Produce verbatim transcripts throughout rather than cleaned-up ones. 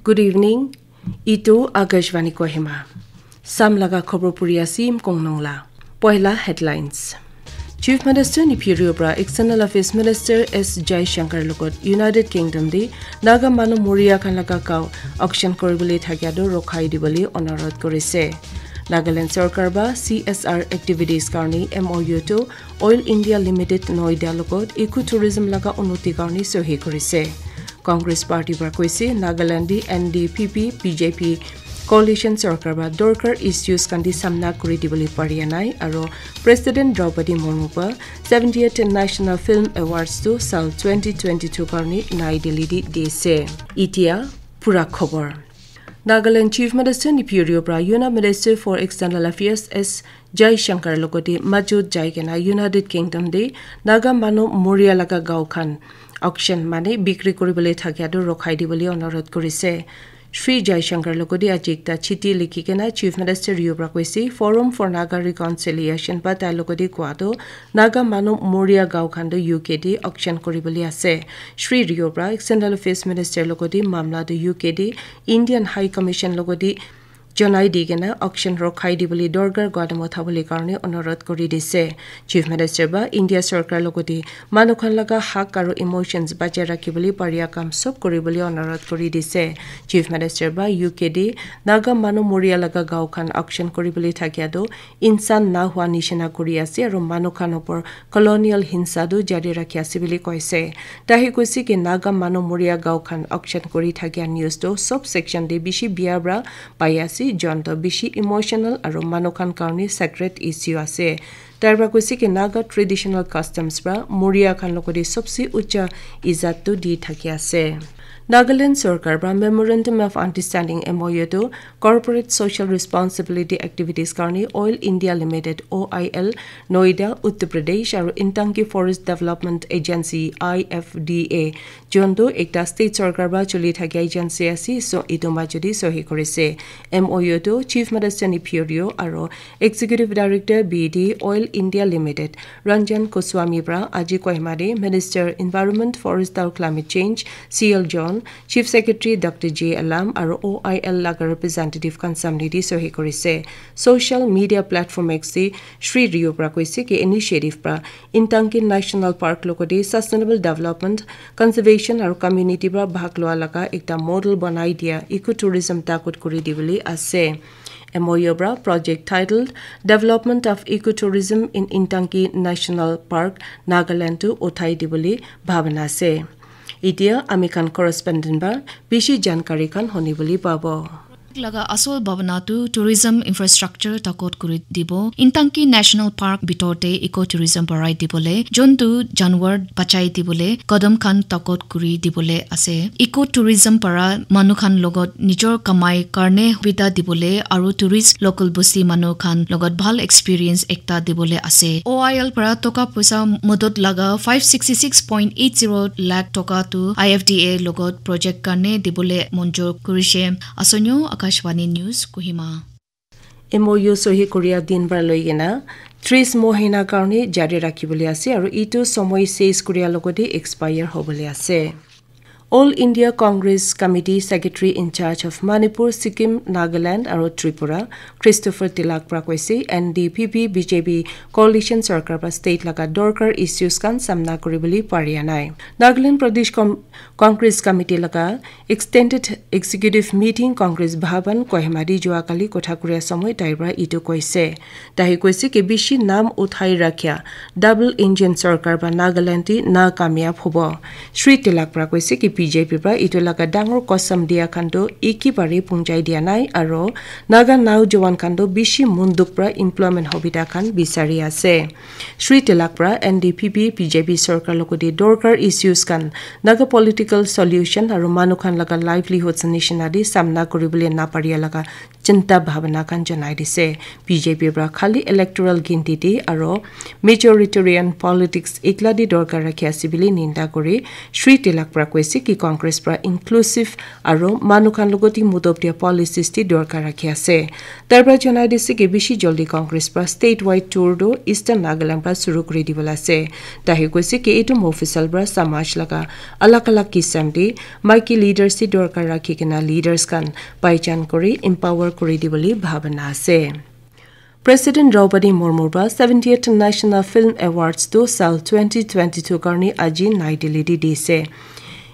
Good evening. Itu Akashvani Kohima. Sam laga khobor puri asim kongnong la. Poila headlines. Chief Minister Neiphiu Rio pra External Affairs Minister S Jaishankar logot United Kingdom di Naga manu Moria khan laga gao auction koribole thakia do rokhai dibole onurodh korise. Nagaland sorkar ba C S R activities karni M O U to Oil India Limited Noida logot eco tourism laga unnoti karni sohi korise. Congress Party pra koise Nagaland di N D P P B J P coalition sorkar pra dorkar issues khan di samna kuri dibole paria nai aro President Draupadi Murmu pra seventieth National Film Awards tu sal twenty twenty-two karni Nai Delhi di dise. Itia pura khobor. Nagaland Chief Minister Neiphiu Rio pra Union Minister for External Affairs S Jaishankar logote majut jai kena United Kingdom de Naga manu Moria laga gao khan auction mane bikri kuribole thakia do rokhai dibole onurodh korise. Shri Jaishankar logote aji ekta chiti likhi kena Chief Minister Rio pra koise Forum for Naga Reconciliation ba tai logote koa do Naga manu Moria gao khan do U K de auction kuribole ase. Shri Rio pra External Affairs Minister logote mamla do U K de Indian High Commission logote jonai di kena auction rokhai dibole dorkar guadam uthabole karni onurodh kuri dise. Chief Minister ba India sorkar logote manu khan laga hak aro emotions bachai rakhibole paria kam sob kuribole onurodh kuri dise. Chief Minister ba U K de Naga manu Moria laga gao khan auction kuribole thakia do insan na hua nishina kuri ase aro manu khan opor colonial hinsa tu jari rakhi ase bili koise. Tahi koise ki Naga manu Moria gao khan auction kuri thakia news tu sob section de bishi bia pra pai ase, jon to bishi emotional aro manu khan karni sacred issue ase. Tar pra koise ki Naga traditional customs pra Moria khan logote sobse ucha izat tu di thaki ase. Nagaland sorkar pra Memorandum of Understanding M O U tu Corporate Social Responsibility Activities karni Oil India Limited O I L Noida, Uttar Pradesh aro Intanki Forest Development Agency I F D A jontu ekta state sorkar pra chuli thakia agency ase, so etu majudi sohi korise. M O U tu Chief Minister Neiphiu Rio aro Executive Director B D Oil India Limited Ranjan Goswami pra aji Kohima de Minister Environment, Forest aro Climate Change C L John, Chief Secretary Doctor J Alam aro O I L laga representative khan samne de sohi korise. Social media platform X de Shri Rio pra koise ki initiative pra Intanki National Park logote sustainable development, conservation aro community pra bhag lua laga ekta model banai dia eco tourism takut kuri dibole ase. M O U pra project titled Development of Ecotourism in Intanki National Park, Nagaland tu uthai dibole bhabana ase. Itia ami khan correspondent ba bishi jankari khan honi bole pabo. Laga asol bhabana tu tourism infrastructure takot kuri dibo. Intanki National Park bitor te eco tourism barai dibole, jontu janwar bachai dibole, kadam khan takot kuri dibole ase. Eco tourism para manu khan logot nijor kamai karne hubida dibole aru tourist local bosti manu khan logot bhal experience ekta dibole ase. O I L para toka poisa modot laga five sixty six point eight zero lakh toka tu I F D A logot project karne dibole monjor kurishe. Asonyo Akashvani News, Kohima. M O U sohi koria din para loi kena tris mohina karne jari rakhi bole ase aru itu somoi ses koria logote expire hobole ase. All India Congress Committee Secretary in charge of Manipur, Sikkim, Nagaland aru Tripura, Christopher Tilak para koise, N D P P B J P coalition sarkar para state laga dorkar issues khan samna kuribole paria nai. Nagaland Pradesh Com-, Congress Committee laga Extended Executive Meeting Congress Bhavan Kohima te jua kali kotha kuria somoi tai para itu koise. Tai koise ki bishi nam uthai rakhia double engine sarkar ba Nagaland te na kamyab hobo. Shri Tilak para koise ki B J P para itu laga dangor kosam dia khan toh ekibare punjai dia nai aro Naga naujawan khan toh bishi munduk para employment hobita khan bisari ase. Shri Tilak para N D P P B J P sarkar logote dorkar issues khan Naga political solution aro manu khan laga livelihoods nishina te samna kuribole naparia laga chinta bhabana khan janai dise. B J P pra khali electoral ginti te aro majoritarian politics ekla te dorkar rakhi ase bili ninda kuri Shri Tilak pra koise ki Congress pra inclusive aro manu khan logot te mudop dia policies te dorkar rakhi ase. Tai pra janai dise ki bishi joldi Congress pra statewide tour tu Eastern Nagaland pra suru kuri dibola ase. Tai he koise ki etu mofisal pra samaj laga alag alag kisam te maiki leaders te dorkar rakhi kena leaders khan paichan kuri empower kuri dibole bhabana ase. President Draupadi Murmu pra seventieth National Film Awards tu sal twenty twenty-two karni aji Nai Delhi te dise.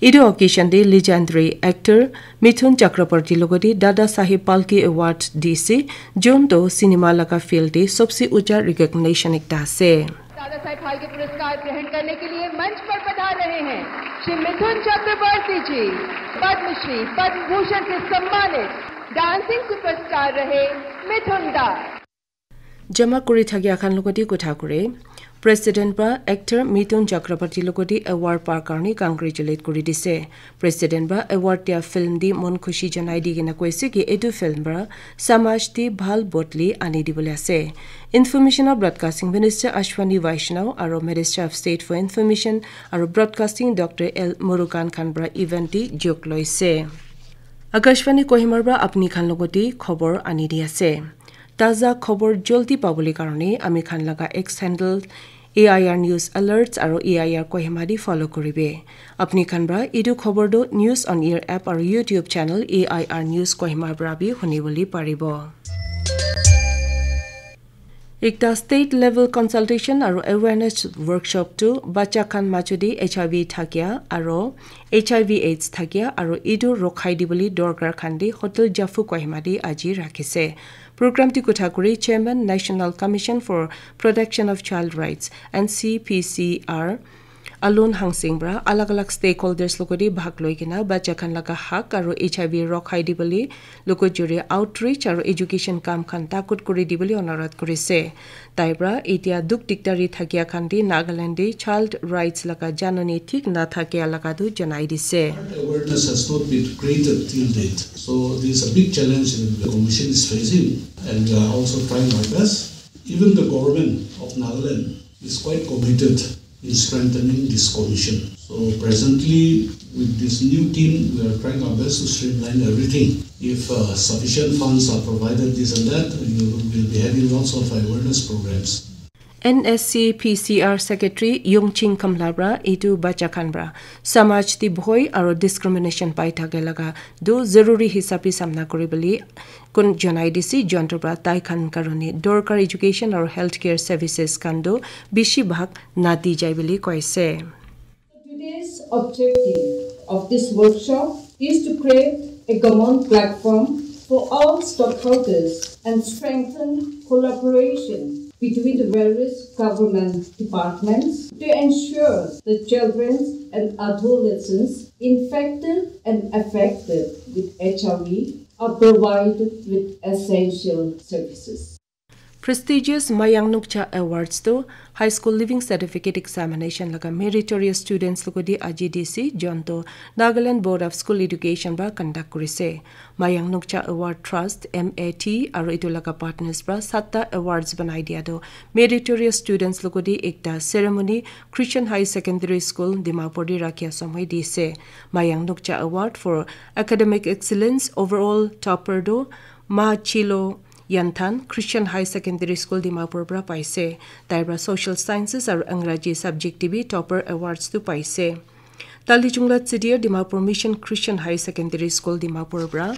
Etu occasion te legendary actor Mithun Chakraborty logote Dada Saheb Phalke Award dise, jun to cinema laga field te sobse ucha recognition ekta ase. दादा साहेब फाल्के पुरस्कार ग्रहण करने के लिए मंच पर पधार रहे हैं श्री मिथुन चक्रवर्ती जी, पद्मश्री, पद्म भूषण से सम्मानित डांसिंग सुपरस्टार रहे मिथुन दा। Jama kuri thakia khan logote kotha kure. President pra actor Mithun Chakraborty logote award par karni congratulate kuri dise. President pra award dia film te mon khushi janai di kena koise ki etu film pra samaj te bhal bodli ani dibole ase. Information and Broadcasting Minister Ashwini Vaishnaw aro Minister of State for Information aro Broadcasting Doctor L Murugan khan pra event te jog loise. Akashvani Kohima pra apni khan logote khobor ani di ase. Taza khobor joldi pabole karone ami khan laga X handle A I R News Alerts aro A I R Kohima di follow kuribe. Apni khan pra etu khobor do News on Air app aro YouTube channel A I R News Kohima pra bi huni bole paribo. Ekta state level consultation aro awareness workshop tu bacha khan majo di H I V thakia aro H I V AIDS thakia aro etu rokhai dibole dorkar khan di Hotel Jafu Kohima di aji rakhise. Program ti kotha kuri Chairman National Commission for Protection of Child Rights, N C P C R, Alon Hangsing pra alag alag stakeholders logote bhag loi kena bacha khan laga hak aro H I V rokhai dibole logo juri outreach aro education kam khan takut kuri dibole onurodh kurise. Tai pra etia duk dikdari thakia khan te Nagaland te child rights laga janani thik na thakia laga tu janai dise. Awareness has not been created till date. So this is a big challenge that the commission is facing, and we are also trying our best. Even the government of Nagaland is quite committed in strengthening this commission. So presently, with this new team, we are trying our best to streamline everything. If uh, sufficient funds are provided, this and that, you will be having lots of awareness programs. N S C P C R Secretary Yongching Kamla pra etu bacha khan pra samaj te bhoi aro discrimination pai thake laga do zaruri hisab te samna kuri bole kun janai dise, jonto pra tai khan karone dorkar education aro healthcare services khan do bishi bhag nati jai bole koise. Today's objective of this workshop is to create a common platform for all stockholders and strengthen collaboration between the various government departments to ensure that children and adolescents infected and affected with H I V are provided with essential services. Prestigious Mayang Nukcha Awards to High School Leaving Certificate Examination laga meritorious students logo di aji D C jonto Nagaland Board of School Education ba conduct kurise. Mayang Nukcha Award Trust, M A T, aro etu laga partners pra satta awards banai dia to meritorious students logo di ekta ceremony Christian High Secondary School Dimapur di rakhia samoi dise. Mayang Nukcha Award for Academic Excellence overall topper do Ma Chilo Yanthan Christian High Secondary School Dimapur pra paise. Tai pra Social Sciences aro Angraji subject te bi topper awards tu paise. Talichungla Chidir Dimapur Mission Christian High Secondary School Dimapur pra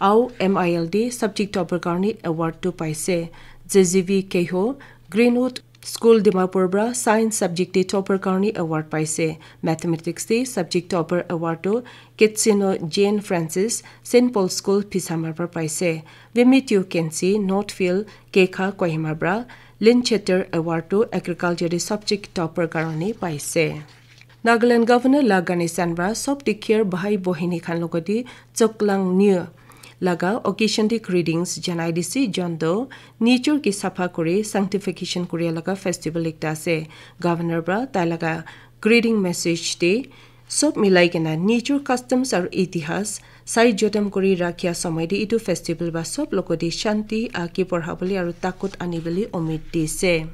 Au M I L D subject topper karni award tu paise. J Z V Keho Greenwood School Dimapur pra science subject te topper karni award paise. Mathematics te subject topper award tu Ketsino Jane Francis Saint Paul School Phisamar pra paise. Vimitio Kensi Northfield Kekha Kohima pra Lincheter award tu agriculture te subject topper karni paise. Nagaland Governor La Ganesan pra sob dikher bhai bohini khan logoti choklang niu laga occasion te greetings janai dise, jonto nature ke sapha kuri sanctification kuri laga festival ekta ase. Governor pra tai laga greeting message te sob milai kena nature customs aru itihas Sai jotom kuri rakhia somoi te itu festival ba sob logoti shanti, agi borhabole aru takut anibole umid dise.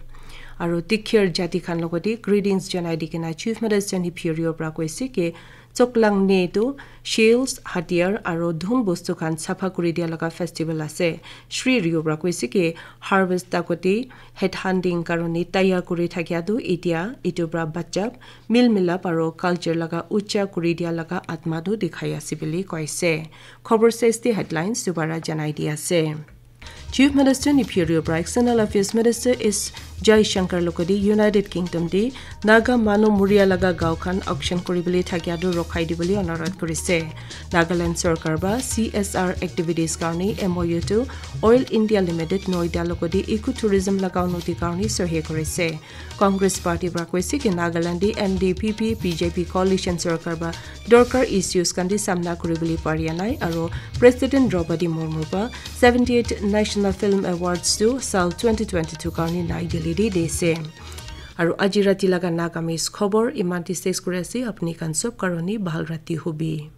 Aru dikhir jati khan logoti greetings janai di kena Chief Minister Neiphiu Rio pra koise ki Choklang ne tu shells, hatiyar aru dhun bostu khan sapha kuri dia laga festival ase. Shri Rio pra koise ki harvest dagoti head hunting karone tayar kuri thakia tu itia itu pra bachap, mil milap aru culture laga ucha kuri dia laga atma tu dikhai ase bili koise. Khobor sesti headlines dubara janai di ase. Chief Minister Neiphiu Rio pra External Affairs Minister S Jaishankar logoti United Kingdom te Naga manu muria laga gao khan auction kuri bole thakia tu rokhai di bole onurodh kurise. Nagaland sorkar ba C S R activities karone M O U tu Oil India Limited Noida logoti eco tourism laga unnoti karone sohi kurise. Congress Party pra koise ki Nagaland te N D P P B J P coalition sorkar ba dorkar issues khan te samna kuri bole paria nai aru President Draupadi Murmu ba seventy-eight National Film Awards tu sal twenty twenty-two karone Nai Delhi te dise. Aru aji rati laga Nagamese khobor iman te ses kuri ase, apni khan sob karone bhal rati hobi.